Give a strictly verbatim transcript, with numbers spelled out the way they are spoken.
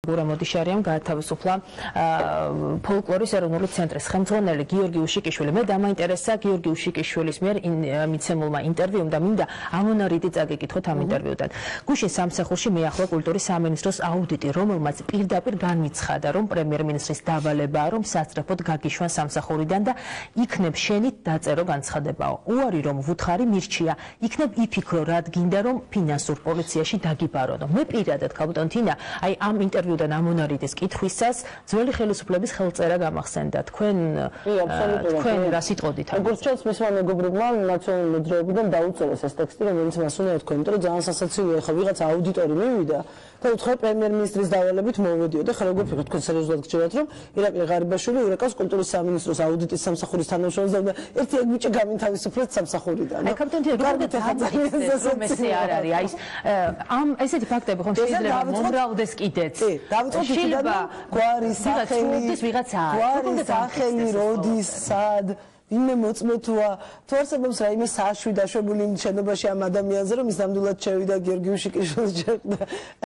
გურა მოდიშარიამ გაათავისუფლა ფოლკლორის ეროვნული ცენტრის ხელმძღვანელი გიორგი უშიკიშვილი. მე დამაინტერესა გიორგი უშიკიშვილის მიერ მიცემულმა ინტერვიუმ და მინდა ამონარიდი წაგიკითხოთ ამ ინტერვიუდან. გუშინ სამსახურში მიახლა კულტურის სამინისტროს აუდიტი, რომელმაც პირდაპირ განიცხადა, რომ პრემიერ-მინისტრის დავალებაა, რომ სასწრაფოდ გაგიშვან სამსახურიდან და იქნებ შენით დაწერო განცხადებაო. უარი რომ ვუთხარი მირჩია, იქნებ იფიქრო, რად გინდა რომ ფინანსურ პოლიციაში დაგიბარონო. მე პირადად კაპიტან თინა, აი ამ ინტერვიუდან და ამონარიდის კითხვისას ძველი ხელისუფლების ხელწერა გამახსენდა. თქვენ თქვენ რა სიტყოდით? როგორც ჩანს, მისმა მეგობრებმა ნაციონალური მოძრაობიდან დაუწერეს ეს ტექსტი, რომელიც მას უნდა ეთქვა, იმიტომ რომ ძალიან სასაცილოა, ხა ვიღაც აუდიტორი მივიდა და უთხრა პრემიერ-მინისტრის დავალებით მოვედიო და ხა როგორ ფიქრობთ, თქვენ სერიოზულად გჭირდებათ, რომ ირაკლი ღარიბაშვილი ურეკავს კულტურის სამინისტროს აუდიტის სამსახურის თანამშრომელს და ერთი ეგ ბიჭი გამინთავისუფლეთ სამსახურიდან. აი კაპიტან თინა, როგორ ეს არ არის? აი ამ ესეთი ფაქტები ხომ შეიძლება მომრავლდეს კიდეც. დავიწყოთ იქიდან გვარი სახელი გვარი სახელი როდის სად ვინმე მოწმეთუა თუ არსებობს რაიმე საშვი დაშვებული შენობაში ამ ადამიანზე რომ ის ნამდვილად შევიდა გიორგი უშიკიშვილს ჯერდა